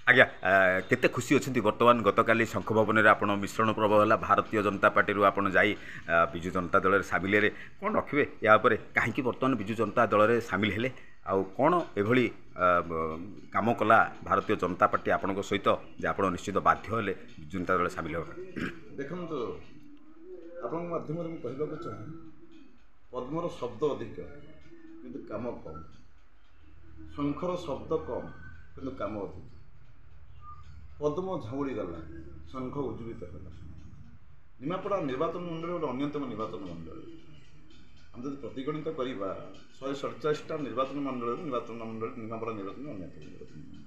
ଆଜ୍ଞା, କେତେ ଖୁସି ଅଛନ୍ତି ବର୍ତ୍ତମାନ? ଗତକାଲି ଶଙ୍ଖ ଭବନରେ ଆପଣ ମିଶ୍ରଣ ପର୍ବ ହେଲା, ଭାରତୀୟ ଜନତା ପାର୍ଟିରୁ ଆପଣ ଯାଇ ବିଜୁ ଜନତା ଦଳରେ ସାମିଲ ହେଲେ। କ'ଣ ରଖିବେ ୟା ଉପରେ? କାହିଁକି ବର୍ତ୍ତମାନ ବିଜୁ ଜନତା ଦଳରେ ସାମିଲ ହେଲେ, ଆଉ କ'ଣ ଏଭଳି କାମ କଲା ଭାରତୀୟ ଜନତା ପାର୍ଟି ଆପଣଙ୍କ ସହିତ ଯେ ଆପଣ ନିଶ୍ଚିତ ବାଧ୍ୟ ହେଲେ ବିଜୁ ଜନତା ଦଳରେ ସାମିଲ ହେବା ପାଇଁ? ଦେଖନ୍ତୁ, ଆପଣଙ୍କ ମାଧ୍ୟମରେ ମୁଁ କହିବାକୁ ଚାହେଁ, ପଦ୍ମର ଶବ୍ଦ ଅଧିକ କିନ୍ତୁ କାମ କମ୍, ଶଙ୍ଖର ଶବ୍ଦ କମ୍ କିନ୍ତୁ କାମ ଅଧିକ। ପଦ୍ମ ଝାଉଁଳିଗଲା, ଶଙ୍ଖ ଉଜ୍ଜୀବିତ ହେଲା। ନିମାପଡ଼ା ନିର୍ବାଚନ ମଣ୍ଡଳୀ ଗୋଟେ ଅନ୍ୟତମ ନିର୍ବାଚନ ମଣ୍ଡଳୀ। ଆମେ ଯଦି ପ୍ରତିଗଣିତ କରିବା 147ଟା ନିର୍ବାଚନ ମଣ୍ଡଳୀରୁ, ନିର୍ବାଚନ ମଣ୍ଡଳୀ ନିମାପଡ଼ା ନିର୍ବାଚନ ଅନ୍ୟତମ ନିର୍ବାଚନ ମଣ୍ଡଳୀ।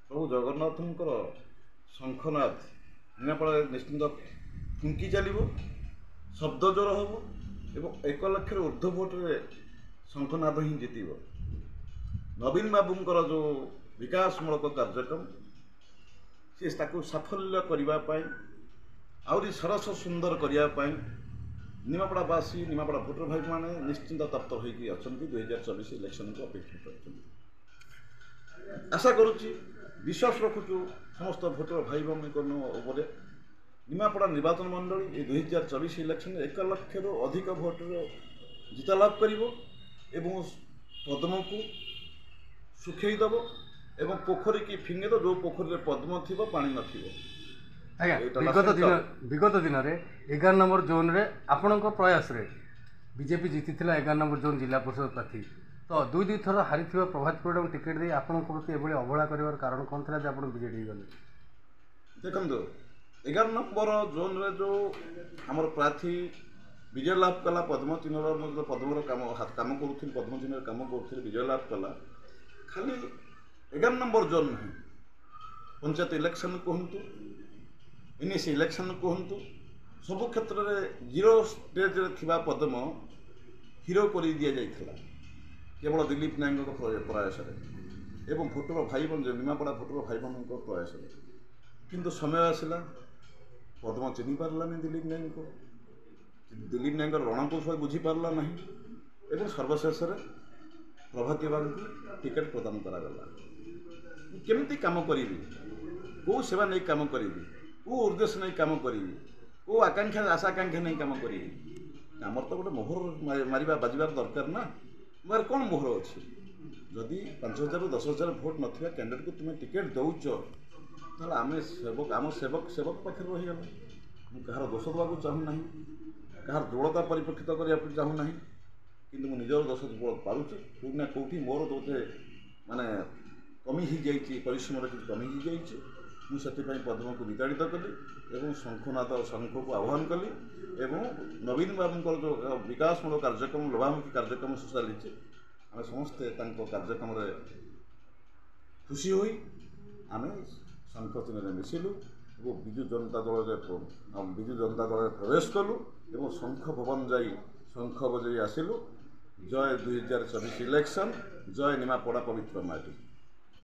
ପ୍ରଭୁ ଜଗନ୍ନାଥଙ୍କର ଶଙ୍ଖନାଦ ନିମାପଡ଼ାରେ ନିଶ୍ଚିନ୍ତ ଫୁଙ୍କି ଚାଲିବ, ଶବ୍ଦ ଜୋର ହେବ ଏବଂ 1 ଲକ୍ଷରୁ ଉର୍ଦ୍ଧ୍ୱ ଭୋଟରେ ଶଙ୍ଖନାଦ ହିଁ ଜିତିବ। ନବୀନ ବାବୁଙ୍କର ଯେଉଁ ବିକାଶମୂଳକ କାର୍ଯ୍ୟକ୍ରମ, ସେ ତାକୁ ସାଫଲ୍ୟ କରିବା ପାଇଁ, ଆହୁରି ସରସ ସୁନ୍ଦର କରିବା ପାଇଁ ନିମାପଡ଼ାବାସୀ, ନିମାପଡ଼ା ଭୋଟର ଭାଇମାନେ ନିଶ୍ଚିନ୍ତ ତପ୍ତ ହୋଇକି ଅଛନ୍ତି, 2024 ଇଲେକ୍ସନକୁ ଅପେକ୍ଷା କରିଛନ୍ତି। ଆଶା କରୁଛି, ବିଶ୍ୱାସ ରଖୁଛୁ ସମସ୍ତ ଭୋଟର ଭାଇ ଭଉଣୀଙ୍କ ଉପରେ, ନିମାପଡ଼ା ନିର୍ବାଚନ ମଣ୍ଡଳୀ ଏ 2024 ଇଲେକ୍ସନରେ 1 ଲକ୍ଷରୁ ଅଧିକ ଭୋଟର ଜିତା ଲାଭ କରିବ ଏବଂ ପଦ୍ମକୁ ଶୁଖେଇ ଦେବ ଏବଂ ପୋଖରୀକି ଫିଙ୍ଗି ଦେବ, ଯେଉଁ ପୋଖରୀରେ ପଦ୍ମ ଥିବ ପାଣି ନଥିବ। ଆଜ୍ଞା, ବିଗତ ଦିନରେ 11 ନମ୍ବର ଜୋନ୍ରେ ଆପଣଙ୍କ ପ୍ରୟାସରେ ବିଜେପି ଜିତିଥିଲା 11 ନମ୍ବର ଜୋନ୍ ଜିଲ୍ଲା ପରିଷଦ ପ୍ରାର୍ଥୀ। ତ ଦୁଇ ଦୁଇ ଥର ହାରିଥିବା ପ୍ରଭାତ ପରିଡ଼ାଙ୍କୁ ଟିକେଟ୍ ଦେଇ ଆପଣଙ୍କ ପ୍ରତି ଏଭଳି ଅବହେଳା କରିବାର କାରଣ କ'ଣ ଥିଲା ଯେ ଆପଣ ବିଜେଡ଼ି ଗଲେ? ଦେଖନ୍ତୁ, 11 ନମ୍ବର ଜୋନ୍ରେ ଯେଉଁ ଆମର ପ୍ରାର୍ଥୀ ବିଜୟ ଲାଭ କଲା, ପଦ୍ମ ଚିହ୍ନର, ମୁଁ ପଦ୍ମର କାମ କରୁଥିଲି, ପଦ୍ମ ଚିହ୍ନରେ କାମ କରୁଥିଲି, ବିଜୟ ଲାଭ କଲା। ଖାଲି 11 ନମ୍ବର ଜୋନ୍ ନୁହେଁ, ପଞ୍ଚାୟତ ଇଲେକ୍ସନ୍ କୁହନ୍ତୁ, ଏନ୍ଏସି ଇଲେକ୍ସନ୍ କୁହନ୍ତୁ, ସବୁ କ୍ଷେତ୍ରରେ ଜିରୋ ଷ୍ଟେଜ୍ରେ ଥିବା ପଦ୍ମ ହିରୋ କରି ଦିଆଯାଇଥିଲା କେବଳ ଦିଲ୍ଲୀପ ନାୟକଙ୍କ ପ୍ରୟାସରେ ଏବଂ ଭୋଟର ଭାଇ, ନିମାପଡ଼ା ଭୋଟର ଭାଇ ଭଉଣୀଙ୍କ ପ୍ରୟାସରେ। କିନ୍ତୁ ସମୟ ଆସିଲା, ପଦ୍ମ ଚିହ୍ନି ପାରିଲାନି ଦିଲ୍ଲୀପ ନାୟକଙ୍କୁ, ଦିଲ୍ଲୀପ ନାୟକଙ୍କର ରଣକୌଶଳ ବୁଝିପାରିଲା ନାହିଁ ଏବଂ ସର୍ବଶେଷରେ ପ୍ରଭାତୀ ବାବୁଙ୍କୁ ଟିକେଟ୍ ପ୍ରଦାନ କରାଗଲା। ମୁଁ କେମିତି କାମ କରିବି, କେଉଁ ସେବା ନେଇ କାମ କରିବି, କେଉଁ ଉଦ୍ଦେଶ୍ୟ ନେଇ କାମ କରିବି, କେଉଁ ଆକାଂକ୍ଷା ଆଶା ଆକାଂକ୍ଷା ନେଇ କାମ କରିବି? ଆମର ତ ଗୋଟେ ମୋହର ମାରିବା ବାଜିବାର ଦରକାର ନା। ମୋର କ'ଣ ମୋହର ଅଛି? ଯଦି 5 ହଜାରରୁ 10 ହଜାର ଭୋଟ୍ ନଥିବା କ୍ୟାଣ୍ଡିଡେଟ୍କୁ ତୁମେ ଟିକେଟ୍ ଦେଉଛ, ତାହେଲେ ଆମେ ସେବକ, ଆମ ସେବକ ସେବକ ପାଖରେ ରହିଗଲା। ମୁଁ କାହାର ଦୋଷ ଦେବାକୁ ଚାହୁଁନାହିଁ, କାହାର ଦୁର୍ବଳତା ପରିପ୍ରେକ୍ଷିତ କରିବାକୁ ଚାହୁଁନାହିଁ, କିନ୍ତୁ ମୁଁ ନିଜର ଦୋଷ ପାରୁଛି। କେଉଁଠି ନା କେଉଁଠି ମୋର ବୋଧେ ମାନେ କମି ହେଇଯାଇଛି, ପରିଶ୍ରମରେ କିଛି କମି ହେଇଯାଇଛି। ମୁଁ ସେଥିପାଇଁ ପଦ୍ମକୁ ବିତାଡ଼ିତ କଲି ଏବଂ ଶଙ୍ଖନାଦ ଶଙ୍ଖକୁ ଆହ୍ୱାନ କଲି ଏବଂ ନବୀନ ବାବୁଙ୍କର ଯେଉଁ ବିକାଶମୂଳକ କାର୍ଯ୍ୟକ୍ରମ, ଲୋଭାମୁଖୀ କାର୍ଯ୍ୟକ୍ରମ ସବୁ ଚାଲିଛି, ଆମେ ସମସ୍ତେ ତାଙ୍କ କାର୍ଯ୍ୟକ୍ରମରେ ଖୁସି ହୋଇ ଆମେ ଶଙ୍ଖ ଚିହ୍ନରେ ମିଶିଲୁ ଏବଂ ବିଜୁ ଜନତା ଦଳରେ ପ୍ରବେଶ କଲୁ ଏବଂ ଶଙ୍ଖ ଭବନ ଯାଇ ଶଙ୍ଖ ବଜାଇ ଆସିଲୁ। ଜୟ 2024 ଇଲେକ୍ସନ୍, ଜୟ ନିମାପଡ଼ା ପବିତ୍ର ମାଟି।